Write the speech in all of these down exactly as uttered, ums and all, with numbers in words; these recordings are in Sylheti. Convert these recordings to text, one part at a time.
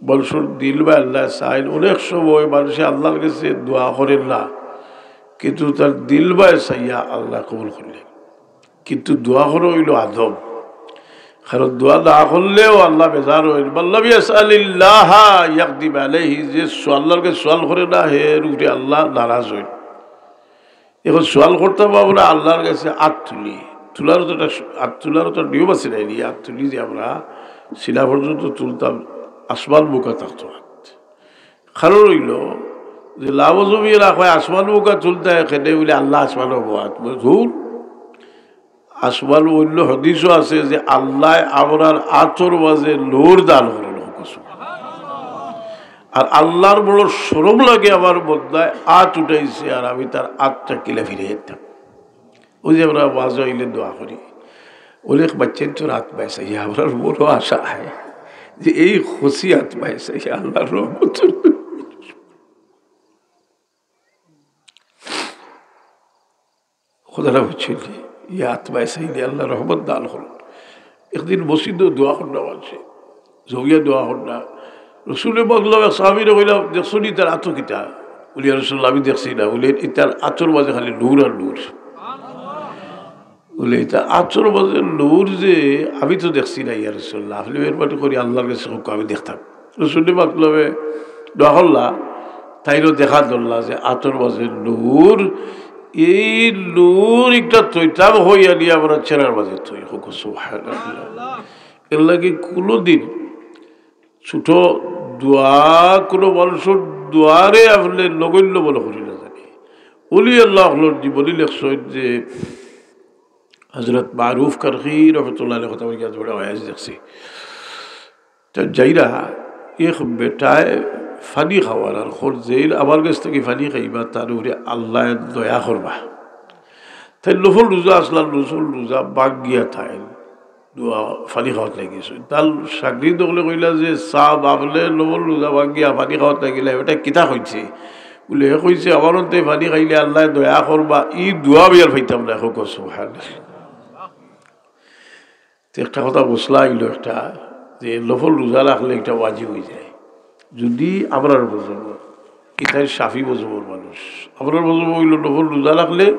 মানুষর দিল বায় আল্লায় চাইন। অনেক সময় মানুষে আল্লার গেছে দোয়া করের না, কিন্তু তার দিল বায় চাইয়া আল্লায় কবুল করলে। কিন্তু দোয়া করা অইলো আদব, কারণ দোয়া না করলেও আল্লা বেজার অইন। মাল্লাম ইয়াসআলিল্লাহা ইয়াগদিব আলাইহি, যে সু-, আল্লার গেছে সওয়াল করে না, হের উপরে আল্লা নারাজ অইন। এখন সওয়াল করতাম আমরা আল্লার গেছে আত তুলি, তুলার তো একটা স-, আত তুলার তো একটা নিয়ম আছে নানি? আত তুলি যে আমরা সিনা পর্যন্ত তুলতাম, আসমান মুখা থাকতো আত। কারণ অইলো যে লামজমিয়ে না কয় আসমান মুখা তুলতে হয়, কেনে বুলে আল্লা আসমানো বওয়াত। বুলে, ধুর, আসমান অইন্য হাদিসও আছে যে আল্লায় আমরার আতর মাঝে নূর দান করইন। আর আল্লার বড় শরম লাগে আমার বন্দায় আত উঠাইছে আর আমি তার আতটা কিলা ফিরাই দিতাম। অউ যে আমরা ওয়াজ অইলে দোয়া করি, অনেক বাচ্চাইন্তর আত পাইছে, ইয়া আমরার বড় আশা হয় যে এই খুশি আত পাইছে, ইয়া আল্লার রহমত। কথাটা বুঝছইন নি? ইয়া আত পাইছে, ইয়া আল্লা রহমত দান করইন। একদিন মসজিদো দোয়া কররা মানষে, জমিয়া দোয়া কররা। রসুলে পাক সাল্লাল্লাহু আলাইহি ওয়াসাল্লামরে কইলা, "দেখছো নি তার আতো কিতা?" বুলে, "ইয়া রাসুলুল্লাহ, আমি দেখছি না।" বুলে, "ইতার আতর মাঝে খালি নূর আর নূর।" বুলে, "ইতার আতর মাঝে নূর যে আমি তো দেখছি না, ইয়া রাসুলুল্লাহ, আপনে মেহেরবানি করি আল্লার গেছে কউক্কা, আমি দেখতাম।" রসুলে পাক দোয়া করলা, তাইনও দেখা ধরলা যে আতর মাঝে নূর, এই নূর একটা থইতাম অইয়া নি আমরার চেহারার মাঝে থই। কউক্কা সুবহানাল্লাহ। এরলাগি কুনুদিন ছোট দোয়া, কুনু মানষর দোয়ারে আপনে নগণ্য মনো করি না জানি। অলি আল্লা অকলর জীবনী লেখছইন যে হজরত মারুফ কারখি রহমতুল্লাহ আলাইহির কথা বলি আজ বড় ওয়াজ দেখছি। তে যাইরা এক বেটায় পানি খাওয়ার আর খোঁজ যেইন, আমার গেছ থাকি পানি খাইবা, তার উপরে আল্লায় দয়া করবা। তাইন নফল রোজা আছলা, নফল রোজা ভাঙ্গিয়া তাইন দোয়া পানি খাওয়াত লাগিছইন। তার শাগরিদ অকলে কইলা যে, "সাব, আপনে নফল রোজা ভাঙ্গিয়া পানি খাওয়াত লাগিলা, ইটা কিতা কইছে?" বুলে, "হে কইছে, আমার অন্তে পানি খাইলে আল্লায় দয়া করবা, ই দোয়া আমি আর পাইতাম না।" কউক্কা সুবহানাল্লাহ। তে একটা কথা বুঝলা অইলো একটা, যে নফল রোজা রাখলে ইটা ওয়াজিব অইযায়। যদি আমরার মজহব, ইতাইন শাফি মজহবর মানুষ, আমরার মজহব অইলো নফল রোজা রাখলে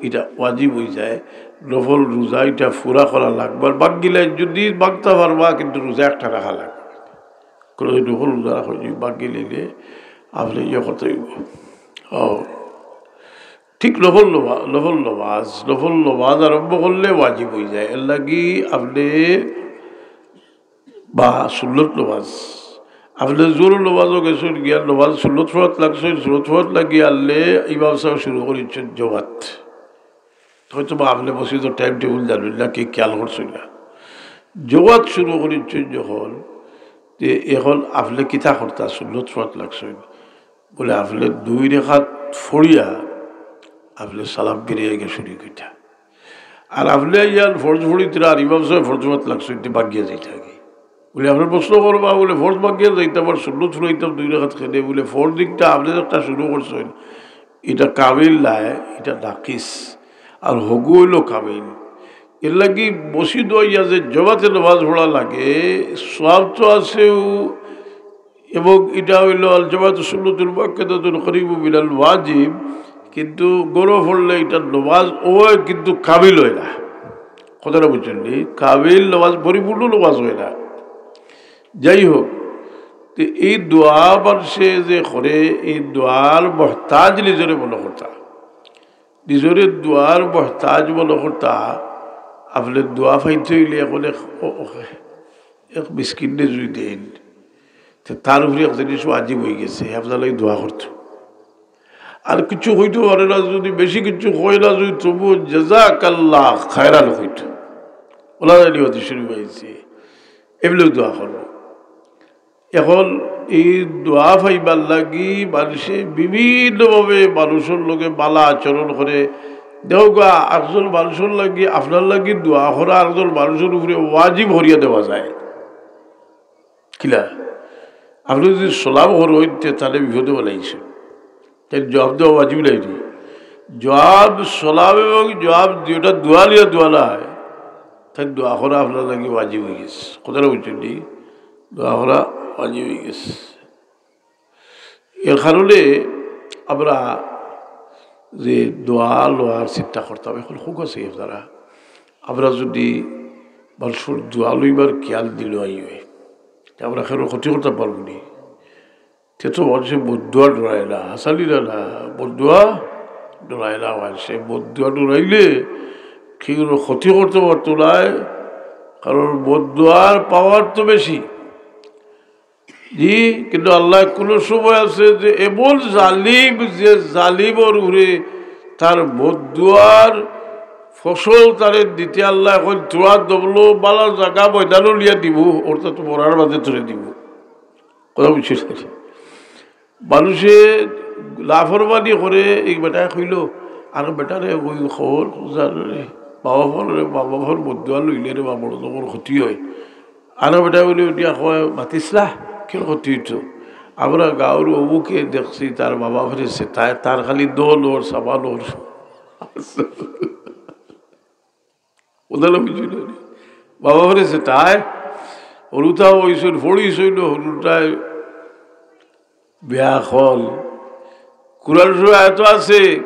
ইটা ওয়াজিব অইযায়। নফল রোজা ইটা পুরা করা লাগবো। আর ভাঙ্গিলে যদি ভাঙতা পারবা, কিন্তু রোজা একটা রাখা লাগবো। কুনুদিন নফল রোজা রাখা যদি ভাঙ্গিলে আপনে ইয়ে করতে অইবো। ও, ঠিক নফল নমা-, নফল নমাজ, নফল নমাজ আরম্ভ করলে ওয়াজিব অইযায়। এরলাগি আপনে বা সুন্নত নমাজ, আপনে জোহরর নমাজো গেছইন, গিয়া নমাজ সুন্নত পড়াত লাগছইন, সুন্নত পড়াত লাগি আরলে ইমাম সাবে শুরু করিছইন জমাত। হয়তো বা আপনে মসজিদর time table জানইন না, কি খেয়াল করছইন না। জমাত শুরু করিছইন যখন, তে এখন আপনে কিতা করতা, সুন্নত পড়াত লাগছইন। বুলে, আপনে দুই রেকাত পড়িয়া আপনে সালাম ফিরাইয়া গিয়া শুরু করিতা। আর আপনে ইয়ান ফরজ পড়িতরা আর ইমাম সাবে ফরজ পড়াত লাগছইন, তে ভাঙ্গিয়া যাইতা আগে। বুলে, আপনে প্রশ্ন করবা, বুলে, ফরজ ভাঙ্গিয়া যাইতা, আবার সুন্নত পড়াইতাম দুই রেকাত কেনে? বুলে, ফরজ দিকটা আপনে একটা শুরু করছইন, ইটা কামিল নায়, ইটা নাকিস, আর হগু অইলো কামিল। এরলাগি মসজিদো আইয়া যে জমাতে নমাজ পড়া লাগে, সওয়াব তো আছেউ, এবং ইটা অইলো আল জামাতু সুন্নাতুন মুআক্কাদাতুন করিবুম মিনাল ওয়াজিব, কিন্তু ঘরো পড়লে ইটা নমাজ অয়, কিন্তু কামিল অয় না। কথাটা বুঝছইন নি? কামিল নমাজ, পরিপূর্ণ নমাজ অয় না। যাই হোক, তে এই দোয়া মানষে যে করে, এই দোয়ার মহতাজ নিজরে মনো করতা, নিজরে দোয়ার মহতাজ মনো করতা। আপনে দোয়া পাইতে অইলে এখন এক, ও, ও, এক মিসকিনরে যদি দেইন, তে তার উপরে এক জিনিস ওয়াজিব অইগেছে, আপনার লাগি দোয়া করতো। আর কিচ্ছু কইতো পারে না, যদি বেশি কিচ্ছু কয় না, যদি তবুও জাযাকাল্লাহ খায়রান কইতো। ওলা জানি হতে শুরু অইছে, এমনেউ দোয়া করবো। এখন এই দোয়া পাইবার লাগি মানষে বিভিন্নভাবে মানষর লগে ভালা আচরণ করে। দেখউক্কা, একজন মানষর লাগি, আপনার লাগি দোয়া করা আরকজন মানষর উপরে ওয়াজিব করিয়া দেওয়া যায়। কিলা? আপনে যদি সালাম করইন, তে তারে বিপদো ফালাইছইন। তাইন জবাব দেওয়া ওয়াজিব নায় নি? জবাব, সালাম এবং জবাব দুইটা দোয়া লইয়া দোয়া নায়। তাইন দোয়া করা আপনার লাগি ওয়াজিব অইগেছে। কথাটা বুঝছইন নি? দোয়া করা অইয়া গেছে। এর কারণে আমরা যে দোয়া লওয়ার চিন্তা করতাম, এখন খুব আছে আপনারা, আমরা যদি মানুষর দোয়া লইবার খেয়াল দিল আই হয়, তে আমরা কেউর ক্ষতি করতাম পারবো নি? তে তো মানুষে বদদোয়া ডরায় না, হাসালি না, না, বদদোয়া ডরায় না মানুষে। বদদোয়া ডরাইলে কেউর ক্ষতি করতে পারতো নায়, কারণ বদদোয়ার পাওয়ার তো বেশি। জি, কিন্তু আল্লাহ কোনো সময় আছে যে এমন জালিম, যে জালিমর উপরে তার বদদোয়ার ফসল তারে দিতে আল্লাহ এখন তোরা দবলো বালা জাগা ময়দানও লিয়া দিব, অর্থাৎ মরার বাদে তোরে দিব। কথা বুঝছিস? মানুষে লাফরমানি করে, এই বেটায় কইল, আর বেটারে ওই খবর জানো রে, বাবা ফোন রে, বাবা ফোন বদদোয়া লইলে রে, বাবা বড় তখন ক্ষতি হয়। আর বেটায় বলে উঠিয়া কয়, "মাতিসলা, কেন ক্ষতি হইতো? আমরা গাঁওর অমুকে দেখছি, তার বাবা ফিরেছে, তাই তার খালি দল ওর, সামান ওর।" ওদালা বুঝি না রে। বাবা ফিরেছে, তাই হরুতা হইছইন, ফড়িছইন, হরুতায় বেয়াখল। কুরআন শরীফ আয়াত আছে,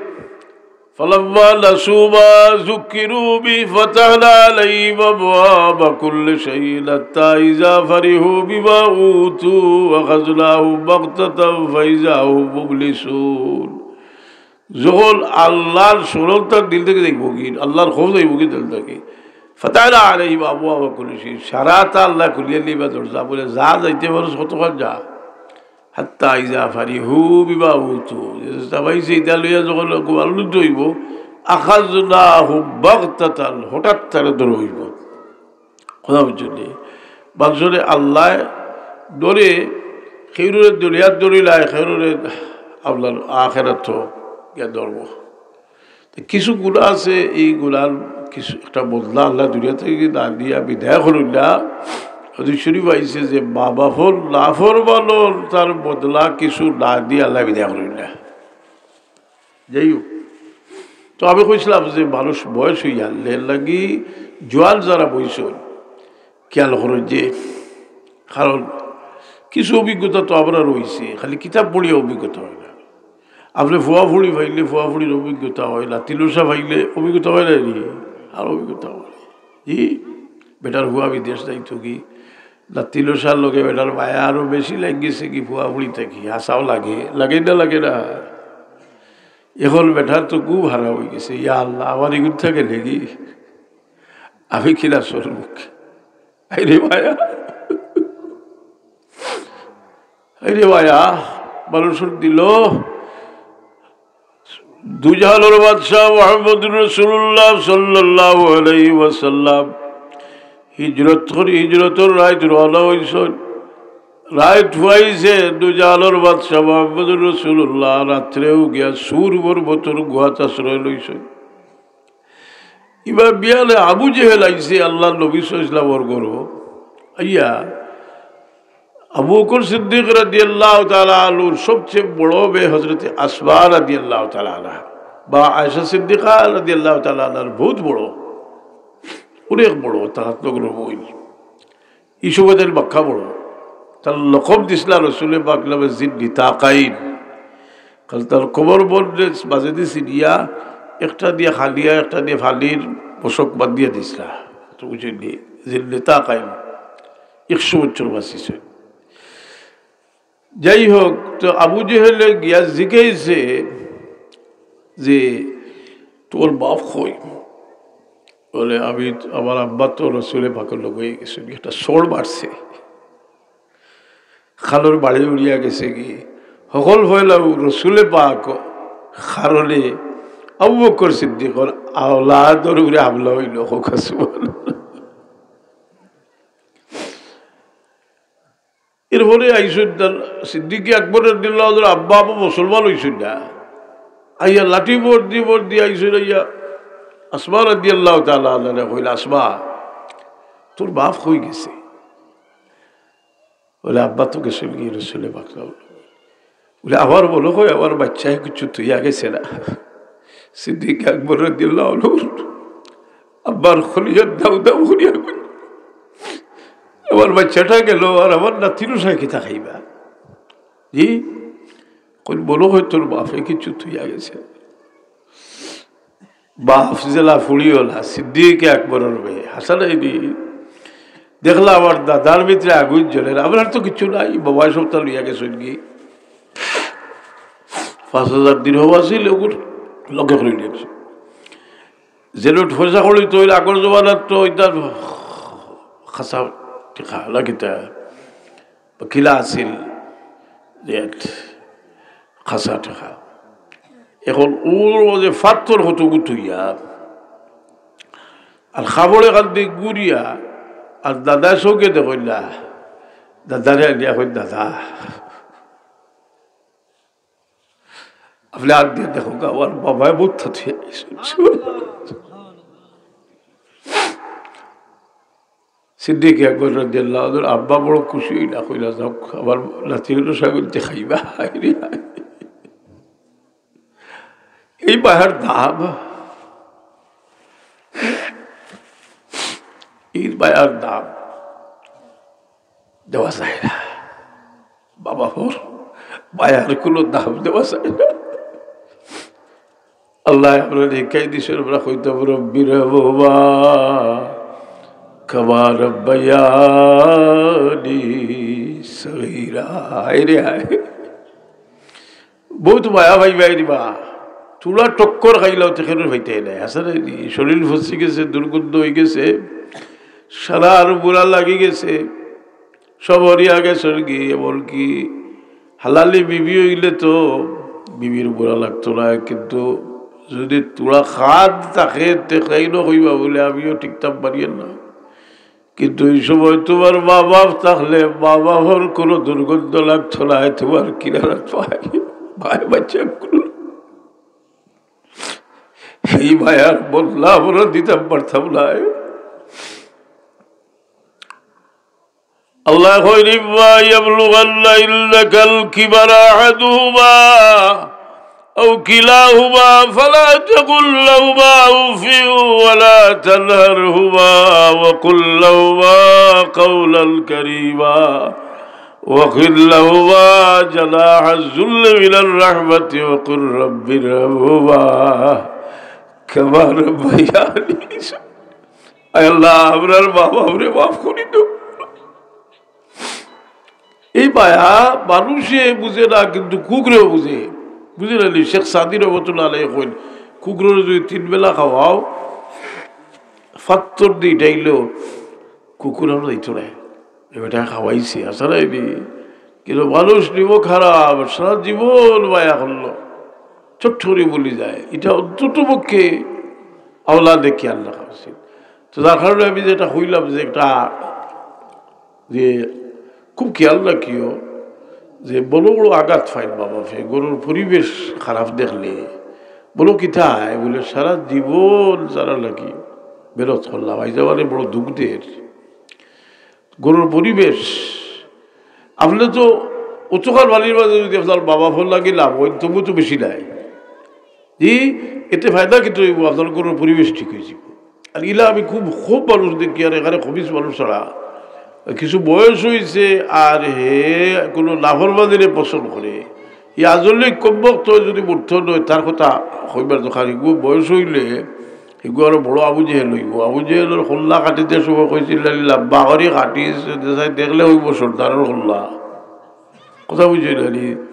"ফালাম্মা নাসু মা যুক্কিরু বিহি ফাতাহনা আলাইহিম আবওয়াবা কুল্লি শাইইন হাত্তা ইযা ফারিহু বিমা উতু আখাযনাহুম বাগতাতান ফাইযা হুম মুবলিসুন।" যখন আল্লাহর স্মরণটা দিল থাকি যাইবো গি, আল্লাহর খৌফ যাইবো গি দিল থাকি, ফাতাহনা আলাইহিম আবওয়াবা কুল্লি শাইইন, সারাটা আল্লাহ খুলিয়া দিবা দরজা, বলে, "যা যাইতে পারস, কতখান যা।" হাত্তা ইযা ফারিহু বিমা উতু, যেটা পাইছে ইটা লইয়া যখন খুব আনন্দিত হইব, আখাযনাহুম বাগতাতান, হঠাৎ তারে ধরা হইব। কথা বুঝছইন নি? মানুষরে আল্লাহ ধরে, কেউরে দুনিয়াত ধরিলায়, কেউরে আপনার আখেরাত গিয়া ধরব। তো কিছু গুনাহ আছে, এই গুনার কিছু একটা বদলা আল্লাহ দুনিয়া থাকি না দিয়া বিদায় করইন না। হাদিস শরীফ আইছে যে মা বাপর নাফরমানর তার বদলা কিছু না দিয়া আল্লাহ বিদায় করইন না। যাই হোক, তো আমি কইছিলাম যে মানুষ বয়স হইয়া এর লাগি জোয়ান যারা বইছইন, খেয়াল করইন যে, কারণ কিছু অভিজ্ঞতা তো আমরা রইছে, খালি কিতাব পড়িয়া অভিজ্ঞতা হয় না। আপনি ফুয়া ফুড়ি পাইলে ফুয়া ফুড়ির অভিজ্ঞতা হয়, লাতিলসা পাইলে অভিজ্ঞতা হয় না নি? আর অভিজ্ঞতা হয়। জি, বেটার ফুয়া বিদেশ যাইতো গি, লাতিলসার লগে বেটার মায়া আরো বেশি লাগি গেছে গি ফুয়া ফুড়ি থাকি। হাছাউ লাগে, লাগে না, লাগে না? এখন বেটার তো খুব হারা হয়ে গেছে। ইয়া আল্লাহ, আমার এগুন থাকে নাকি? আমি কিনা সরমুখ। আরে মায়া, আরে মায়া, মানুষর দিল দুজাহানর বাদশাহ মুহাম্মদুর রাসূলুল্লাহ সাল্লাল্লাহু আলাইহি ওয়াসাল্লাম হিজরত করি, হিজরতর রাইত রওনা হইছইন। রাইত ফুয়াইছে, দুজাহানর বাদশাহ মুহাম্মদুর রাসূলুল্লাহ রাত্রেও গিয়া সুর পর্বতর গুহাত আশ্রয় লইছইন। ইবার বিয়ালে আবু জেহেল আইছে আল্লাহর নবী সাল্লাল্লাহু আলাইহি ওয়াসাল্লামর ঘরো। আইয়া আবু বকর সিদ্দিক রাদিয়াল্লাহু তাআলা আনহুর সবচেয়ে বড় মেয়ে হযরতে আসমা রাদিয়াল্লাহু তাআলা আনহা, বা আয়েশা সিদ্দিকা রাদিয়াল্লাহু তাআলা আনহার বহুত বড়, অনেক বড়, তার হাত লগর বইন। এই সময় তাইর বাক্কা বড়। তার লকব দিছলা রসুলে পাক নামে জিন নিতাকাইন। কারণ তার কোমর বন্ধে বাজে দিছি দিয়া, একটা দিয়া খালিয়া, একটা দিয়া ফালির পোশাক বান্ধিয়া দিছলা। তো বুঝলি, জিন নিতাকাইন। একশো বছর বাঁচিছইন। যাই হোক, তো আবু জেহেলে গিয়া জিজ্ঞাসে যে, "তোর বাপ কই?" বলে, "আমি, আমার আব্বা তো রসুলে পাকর লগে গেছে, একটা চড় মারছে, খালর বাড়ি উড়িয়া গেছে গি।" হকল হইল রসুলে পাক কারণে আবু বকর সিদ্দিকর আওলাদর উপরে হামলা হইল। হোক সুবহানাল্লাহ। এরপরে আইসুন তার সিদ্দিকে আকবর রাদিয়াল্লাহু তাআলা আব্বা আবু মুসলমান হইসুন না। আইয়া লাঠি বর দি বর দি আইসুন, আইয়া আসমা রাদিয়াল্লাহু তাআলা আনহারে কইলা, "আসমা, তোর বাপ কই গেছে?" বলে, "আব্বা তো গেছইন গি রসুলে পাক।" বলে, "আমার মনে হয় আমার বাচ্চায় কিছু তুইয়া গেছে না।" সিদ্দিক আকবর রাদিয়াল্লাহু আনহু আব্বার খলিজাত দাউ দাউ করিয়া কইল, আমার বাচ্চাটা গেল, আর আমার নাতির উষায় কিতা খাইবা? জি, কইন, মনো অয় তোর বাপে কিছু থইয়া গেছে। বাপ যেলা ফুড়ি অলা, সিদ্দিকে আকবরর মেয়ে, হাছা নায়নি? দেখলা আমার দাদার ভিতরে আগুন জ্বলের, আমরার তো কিছু নাই, বাবায় সবতা লইয়া গেছইন গি। পাঁচ হাজার দিরহম আছিল, ওগুর লগে করে নিয়ে গেছে। যে নোট পয়সা করি তো ওই আগর জমানার তো ওইটা খাসা টেকা না কিতা, বা কিলা আছিল যে খাসা টেকা। এখন ওর মাঝে ফাত্তর কত গুতুইয়া, আর খাবড়ে কান্দি গুড়িয়া, আর দাদায় চউখে দেখইন না, দাদারে আনিয়া কইন, "দাদা, আপনে আত দিয়া দেখউক্কা, আমার বাবায় বহুত থাকি।" সিদ্দিক আকবর রাদিয়াল্লাহু আনহুর আব্বা বড় খুশি অইলা, কইলা, "যাউক, আমার নাতির উষায় খাইবা।" হায় রে হায়। এই মায়ার দাম, এই মায়ার দাম দেওয়া যায় না। বাবা, ওর মায়ার কোনো দাম দেওয়া যায় না। আল্লায় আমরারে হিকাই দিছইন, আমরা কইতাম, "রব্বিরহামহুমা কামা রাব্বায়ানি সগীরা।" হায় রে হায়। বহুত মায়া পাইবায় রে বা। তুলা টক্কর খাইলাও তে কেনে পাইতায় নায়। হাছা নায়নি? শরীর ফসি গেছে, দুর্গন্ধ অইগেছে, সারা আরো বুরা লাগি গেছে, সব হরিয়া গেছইন গি। এমনকি হালালি বিবি অইলে তো বিবির বুরা লাগতো নায়, কিন্তু যুদি তুলা খাদ থাকে, তে কেনে কইবা বুলে, "আমিও টিকতাম পারিয়ার না।" কিন্তু এই সময় তুমার মা বাপ থাকলে মা বাপর কোনো দুর্গন্ধ লাগতো নায়, তুমার কিনারাত পায়, পায় বাচ্চা কোনো। এই মায়ার বদলা আমরা দিতাম পারতাম নায়। আল্লায় কইন, "ইম্মা ইয়াবলুগান্না ইনদাকাল কিবারা আহাদুহুমা أو كلاهما فلا تقل لهما أف ولا تنهرهما وقل لهما قولا كريما واخفض لهما جناح الذل من الرحمة وقل رب ارحمهما كما ربياني صغيرا।" আয় আল্লাহ, আমরার মা বাপরে মাফ করি দেও। এই মায়া মানুষে বুঝে না, কিন্তু কুকুরেও বুঝে। বুঝে না নি? শেখ সাদি রহমতুল্লাহ আলাইহি কইন, "কুকুররে যুদি তিন বেলা খাওয়াও, ফাত্তর দি ডাইলো, কুকুর আমরা দিত না।" এ বেটা খাওয়াইছে, হাছা নায়নি? কিন্তু মানুষ নিব খারাপ, সারা জীবন মায়া করলো, ছোট্ট করি ভুলি যায়। এটা অন্তত পক্ষে আওলাদে খেয়াল রাখা উচিত। তো যার কারণে আমি যেটা কইলাম যে একটা যে খুব খেয়াল রাখিও যে বড় বড় আঘাত পাইন মা বাপে, ঘরর পরিবেশ খারাপ দেখলে বলো কিতা হয়, বুলে সারা জীবন যারা লাগি মেহনত করলাম, আইজ আমারে বড় দুঃখ দের, ঘরর পরিবেশ। আপনে তো অতখান বাড়ির মাঝে যুদি আপনার মা বাপর লাগি লাভ অইন, তবু তো বেশি নাই। জি, এতে ফায়দা কিতা অইবো? আপনার ঘরর পরিবেশ ঠিক অইযিবো। আর ইলা আমি খুব, খুব মানুষ দেখি, আর এখানে খবিস মানুষ ছাড়া। কিছু বয়স অইছে, আর হে কোনো নাফরমানিরে পছন্দ করে। ই আজলি কমবখত যুদি মরতো নয়, তার কথা কইবার দরকার। হিগু বয়স অইলে, হিগু আরো বড় আবু জেহেল অইবো। আবু জেহেলর কল্লা কাটিতে সময় কইছিল, "লাম্বা করি কাটিস, দেখলে অইবো সর্দারর কল্লা।" কথা বুঝছইন নি?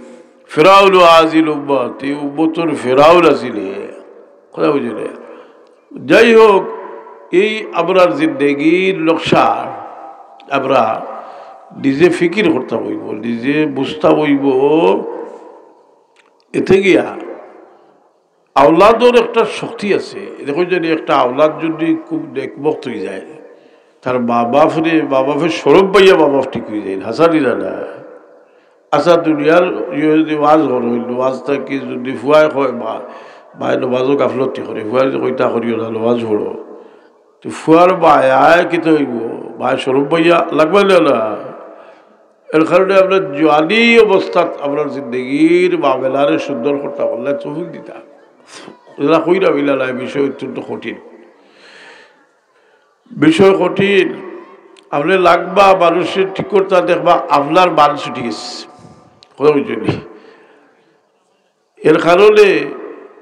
ফেরাউন আজিল উম্মত, ই উম্মতর ফেরাউন আছিল হে। কথা বুঝছইন নি? যাই হোক, এই আমরার জিন্দেগির নকশা আমরা নিজে ফিকির করতাম অইবো, নিজে বুঝতাম অইবো। এতে গিয়া আওলাদর একটা শক্তি আছে। দেখো, যদি একটা আওলাদ যদি খুব নেকবখত অইযায়, তার মা বাপরে, মা বাপে শরম পাইয়া মা বাপ ঠিক অইযায়, হাছা নি না? আচ্ছা, দুনিয়ার ইয়ে যদি ওয়াজ করো, ওয়াজ থাকি যদি ফুয়ায় কয়, "মা, মায়ে নমাজো গাফলতি করে", ফুয়ায় যদি কয়, "ইতা করিও না, নমাজ পড়ো", তো ফুয়ার মায়ায় কিতা অইবো? মায় শরম পাইয়া লাগবা না, না? এর কারণে আমরা জোয়ানি অবস্থাত আমরা জিন্দেগির মামলারে সুন্দর করতাম, আল্লায় তৌফিক দিতা। এরা কইরা মিলা নাই, বিষয় অত্যন্ত কঠিন, বিষয় কঠিন। আপনে লাগবা মানুষরে ঠিক করতা, দেখবা আপনার মান ছুটি গেছে। কথা বুঝছইন নি? এর কারণে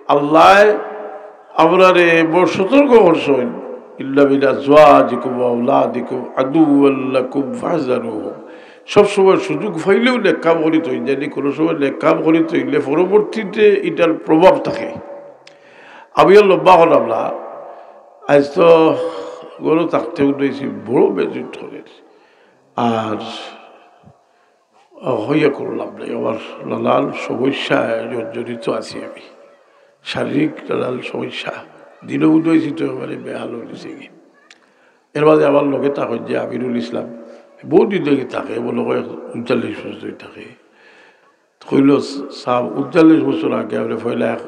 আল্লায় আমরারে বড় সতর্ক করছইন, "ইন্না মিন আজওয়াজিকুম ওয়া আওলাদিকুম আদুওয়াল লাকুম ফাহজারুহুম।" সবসময় সুযোগ পাইলেউ নেক কাম করি থইন, যেন কোনো সময় নেক কাম করি থইলে পরবর্তীতে ইটার প্রভাব থাকে। আমি আর লম্বা করলাম না, আইজ তো ঘরো থাকতে উঠেছি, বড় বেজুট করে। আর হইয়া করলাম নাই, আমার নানান সমস্যায় জর্জরিত আছি আমি, শারীরিক নানান সমস্যা। দিনও উঠেছি তো এবারে বেহাল হয়ে গেছে কি। এর মাঝে আমার লগে থাকইন যে আমিরুল ইসলাম, বহুত দিন থেকে থাকে, মনে হয় ঊনচল্লিশ বছর ধরে থাকে। কইল, "সাব, ঊনচল্লিশ বছর আগে আমরা পয়লা এক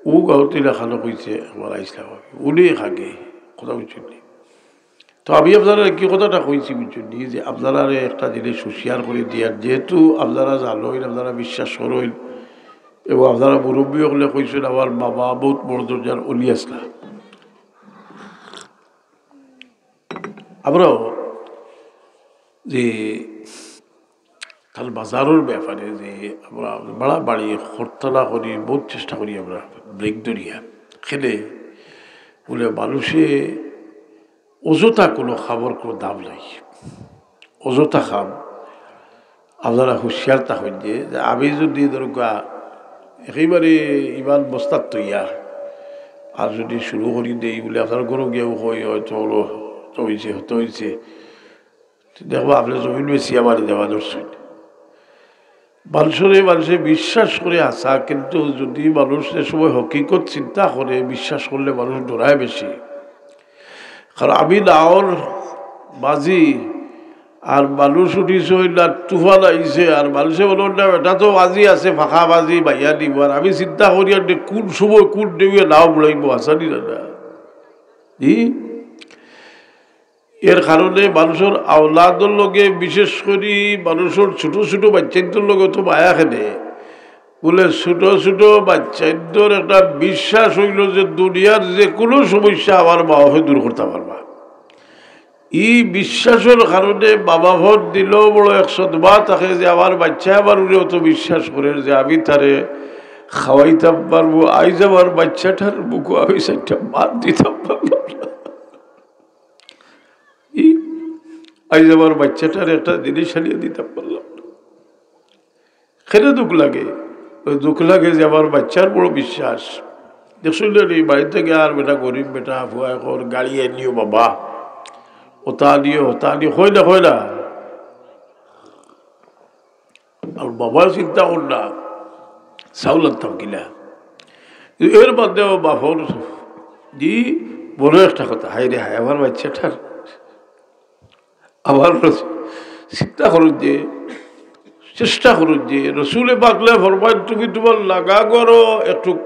ও গাঁওতে লেখানো কইছে, আমার ইসলাম আমি।" উনি এক আগে কথা বুঝছইন নি। তো আমি আপনারারে কি কথাটা কইছি বুঝছইন নি, যে আপনারারে একটা জিনিস হুঁশিয়ার করি দিয়ার, যেহেতু আপনারা জানইন, আপনারা বিশ্বাস করইন, এবং আপনারা মুরব্বী হকলে কইছইন, আমার বাবা বহুত বড় দরজার অলি আছলা। আমরাও যে তার বাজারর ব্যাপারে যে আমরা বাড়াবাড়ি করতা না করি, বহুত চেষ্টা করি আমরা ব্রেক ধরিয়া। কেনে বুলে মানুষে অযথা কোনো কামর কোনো দাম নাই, অযথা কাম। আপনারা হুঁশিয়ার থাকইন যে, যে আমি যদি ধরুকা একেবারে ইমান বস্তাত থইয়া আর যদি শুরু করি দেই বুলে আপনার ঘরো গিয়াও কই, "হয়তো হলো, হতো হইছে, হতো হইছে।" দেখবা আপনে জমিন বেচিয়া বাড়ি দেওয়া ধরছইন। মানুষরে মানুষে বিশ্বাস করে হাছা, কিন্তু যদি মানুষ যে সময় হকিকত চিন্তা করে, বিশ্বাস করলে মানুষ ডরায় বেশি। কারণ আমি নাওর বাজি, আর মানুষ উঠিছে ওই না তুফান আইছে, আর মানুষে বলইন না, "এটা তো বাজি আছে, ফাঁকা বাজি, বাইয়া দিব।" আর আমি চিন্তা করি আর কোন সময় কোন ঢেউয়ে নাও বুড়াইব, হাছানি না না? জি? এর কারণে মানুষর আওলাদর লগে, বিশেষ করি মানুষর ছোট ছোট বাচ্চাইন্তর লগে তো মায়া খেলে। বুলে ছোট ছোট বাচ্চাইন্তর একটা বিশ্বাস অইলো যে দুনিয়ার যে কোনো সমস্যা আমার মা বাপে দূর করতা পারবা। ই বিশ্বাসর কারণে মা বাপর দিলো বড় এক সদমা থাকে যে আমার বাচ্চায় আমার উপরে অত বিশ্বাস করের যে আমি তারে খাওয়াইতাম পারমু। আইজ আমার বাচ্চাটার বুকো আমি চাইরটা মাত দিতাম পারলাম না। ই, আইজ আমার বাচ্চাটার একটা জিনিস আনিয়া দিতাম পারলাম না। কেনে দুখ লাগে? ওই দুখ লাগে যে আমার বাচ্চার বড় বিশ্বাস। দেখছইন নি, বাড়ি থাকি আর বেটা গরিব বেটা, ফুয়া এখন গাড়ি আনিও বাবা, ওটা আনিও, ওটা আনিও, কয় না, কয় না। আর বাবায় চিন্তা করইন না, চাউল আনতাম কিলা। এর বাদেও বাপর জি বড় একটা কথা, হায় রে হায়, আমার বাচ্চাটার, আমার রস-, চিন্তা করইন যে, চেষ্টা করইন যে, রসুলে পাকলে ফরমাইন, "তুমি তুমার লাগা ঘরো একটু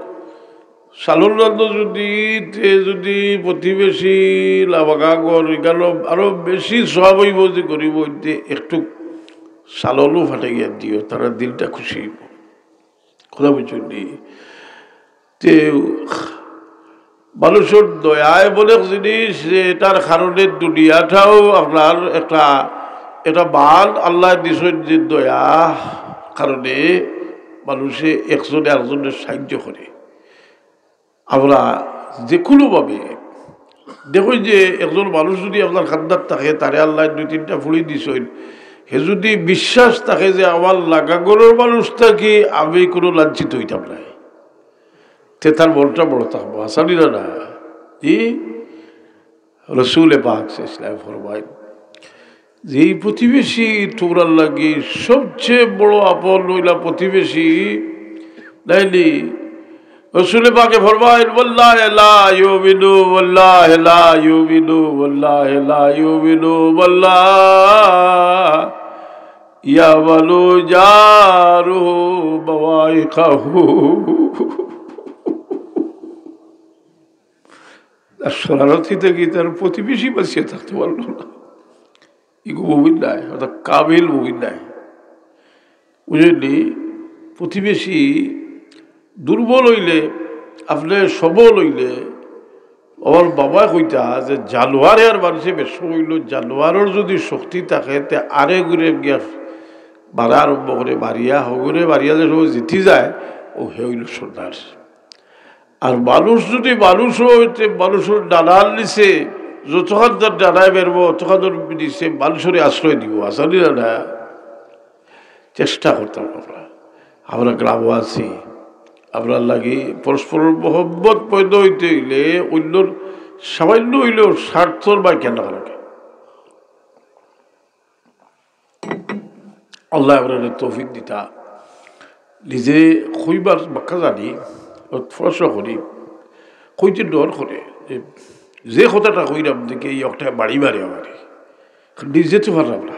চালর রান্ধো যদি, তে যদি প্রতিবেশী লাবাগা ঘর, এখানো আরো বেশি সওয়াব অইবো যে গরিব অইতে একটু চালরও ফাটাইয়া দিও, তারার দিলটা খুশি অইবো।" কথা বুঝছইন নি? তে মানুষর দয়া এমন এক জিনিস যে এটার কারণে দুনিয়াটাও আপনার একটা, একটা মান আল্লায় দিছইন যে দয়া কারণে মানুষে একজনে আরকজনরে সাহায্য করে। আমরা যে কোনোভাবে দেখইন যে একজন মানুষ যদি আপনার কান্দাত থাকে, তারে আল্লায় দুই তিনটা ফুড়ি দিছইন, হে যদি বিশ্বাস থাকে যে আমার লাগা ঘরর মানুষ থাকি আমি কোনো লাঞ্ছিত অইতাম নায়, তে তার মনটা বড় থাকবো, হাছানি না না? জি, রসুলে পাক সাল্লাল্লাহু আলাইহি ওয়াসাল্লাম ফরমাইন, যে এই প্রতিবেশী তোমরার লাগি সবচেয়ে বড় আপন অইলা প্রতিবেশী, নাইনি? রসুলে পাকে ফরমাইন, "ওয়াল্লাহি লা ইউমিনু, ওয়াল্লাহি লা ইউমিনু, ওয়াল্লাহি লা ইউমিনু, ওয়াল্লাহি ইয়ামানু জারুহু বাওয়াইকাহু।" আর শরারতি থাকি তার প্রতিবেশী বাঁচিয়া থাকতে পারলো না। ইগু মুমিন নায়, অর্থাৎ কামিল মুমিন নায়। বুঝছইন নি? প্রতিবেশী দুর্বল অইলে, আপনে সবল অইলে, আমার বাবায় কইতা যে জানোয়ারে আর মানুষে বেশ হইল, জানোয়ারর যদি শক্তি থাকে, তে আরে ঘুরে গিয়া মারা আরম্ভ করে, মারিয়া হগুরে মারিয়া যে সময় জিতি যায়, ও হে হইল সর্দার। আর মানুষ যদি মানুষ হইতে মানুষর ডানার নিচে যতক্ষণ তার ডানায় বেরবো, অতক্ষণ নিচে মানুষরে আশ্রয় দিব, আসানি না না। চেষ্টা করতাম আমরা, আমরা গ্রামবাসী, আমরা লাগি পরস্পরর মহব্বত পয়দা হইতে হইলে অন্যর সামান্য হইলেও স্বার্থর বা কেন লাগে। আল্লাহ আমরা তৌফিক দিতা। নিজে কইবার বাক্কা জানি, ও প্রশ্ন করি, কইতে ডর করে যে, যে কথাটা কইলাম দেখে এই একটা বাড়ি মারে আমার, নিজে তো পারলাম না।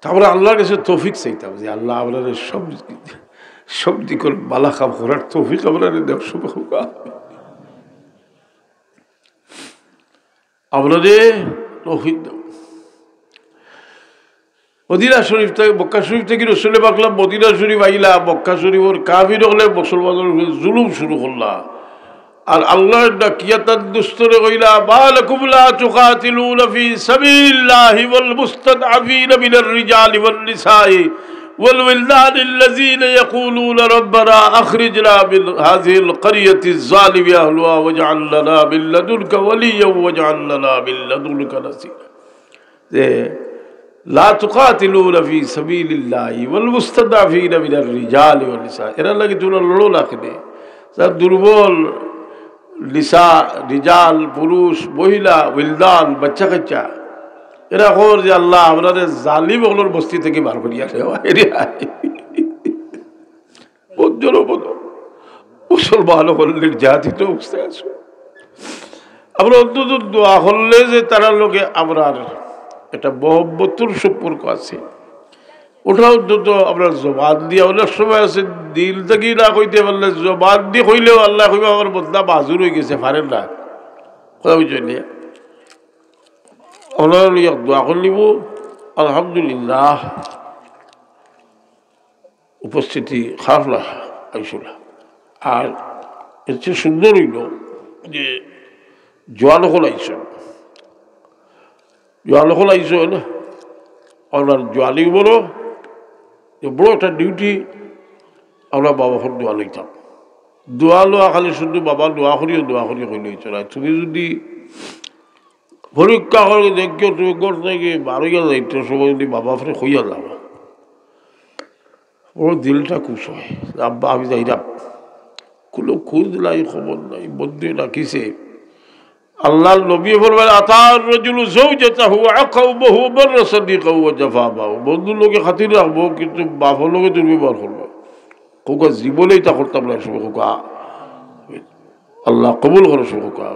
তা আমরা আল্লাহর কাছে তৌফিক চাইতাম যে, "আল্লাহ, আমরা সব, সব দিকর বালা কাম করার তৌফিক আমরা দেও সব হোক।" আমরা যে তৌফিক দেও। মদিনা শরীফ থেকে, মক্কা শরীফ থেকে রসুলে পাকলাম মদিনা শরীফ আইলা, মক্কা শরীফর কাফির হকলে মুসলমানর উপরে জুলুম শুরু করলা। আর আল্লাহর ডাকিয়া তার দুস্তরে কইলা, "মা লাকুম লা তুকাতিলুনা ফি সাবিলিল্লাহি ওয়াল মুস্তাদআফিনা মিনার রিজালি ওয়ান নিসাই ওয়াল ওয়িলদানিল্লাযিনা ইয়াকুলুনা রাব্বানা আখরিজনা মিন হাযিহিল ক্বরিয়াতিজ যালিমি আহলুহা ওয়াজআল লানা মিন লাদুনকা ওয়ালিয়্যান ওয়াজআল লানা মিন লাদুনকা নাসিরা।" যে, "লা তুকাতিলুনা ফি সাবিলিল্লাহি ওয়াল মুস্তাদআফিনা মিনার রিজালি ওয়ান নিসা।" এরার লাগি তোমরা লড়ো না কেনে? যারা দুর্বল, নিসা, রিজাল, পুরুষ, মহিলা, উইলদান, বাচ্চা কাচ্চা, এরা কর যে, "আল্লাহ, আমরারে জালিম অকলর বস্তি থেকে বার করিয়া নেওয়া।" এরে আয়। বদ জনপদ। মুসলমান অকল নির্যাতিত অবস্থায় আছো। আমরা অন্তত দোয়া করলে যে তারার লগে আমরার একটা মহব্বতর সম্পর্ক আছে, ওটা অন্তত আমরা জবান দিয়া, অনেক সময় আছে দিল থেকে না কইতে পারলে জবান দি কইলেও আল্লায় কইবা, "আমার বন্দা মাজুর হই গেছে, পারের না।" কথা বুঝছইন নি? আমরা লইয়া দোয়া করি নিব। আলহামদুলিল্লাহ। উপস্থিতি খারাপ না, আইসলা। আর এর চেয়ে সুন্দর হইল যে জোয়ান অকল আইসইন, জোয়ান অকল আইসইন, আপনার জোয়ানি বড়, যে বড় একটা ডিউটি আমরা বাবা অকল দোয়া লইতাম। দোয়া লওয়া খালি শুধু বাবা দোয়া করিও, দোয়া করিও কইলে হইতো না। তুমি যদি পরীক্ষা করে দেখিও, তুমি ঘর থেকে বারইয়া যাইতে সময় যদি বাবা ফিরে কইয়া যাবা, ওর দিলটা খুশ হয়, "আব্বা, আমি যাইরাম।" কোনো খোঁজ নাই, খবর নাই, বন্ধু রাখিছে। আল্লাহর নবী ফরমায়, "আতার রাজুলু যাওজাতাহু ওয়া আকাউমাহু মাররা সাদিকাহু ওয়া জাফা মাহু।" বন্ধুর লগে খাতির রাখবো, কিন্তু বাপর লগে দুর্ব্যবহার করবো। খোকা জীবনেই তা করতাম না, সব খোকা। আল্লাহ কবুল করো, সব খোকা।